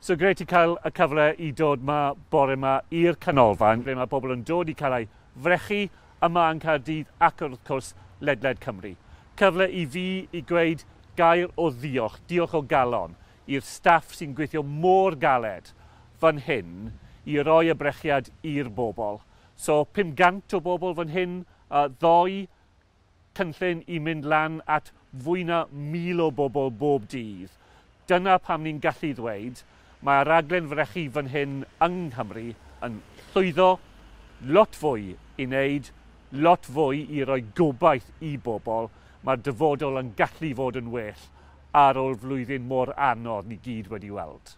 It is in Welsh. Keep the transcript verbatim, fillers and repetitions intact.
So grêt i cael y cyfle i dod 'ma bore 'ma i'r canolfan ble mae bobl yn dod i cael eu frechu yma yn Caerdydd ac wrth cwrs ledled Cymru. Cyfle i fi i gweud gair o ddiolch, diolch o galon i'r staff sy'n gweithio mor galed fan hyn i roi y brechiad i'r bobl. So pum cant o bobl fan hyn, uh, ddoe, cynllun i mynd lan at fwy na mil o bobl bob dydd. Dyna pam ni'n gallu ddweud mae raglen frechu fan hyn yng Nghymru yn llwyddo lot fwy i wneud, lot fwy i roi gobaith i bobl. Mae'r dyfodol yn gallu fod yn well ar ôl flwyddyn mor anodd ni gyd wedi weld.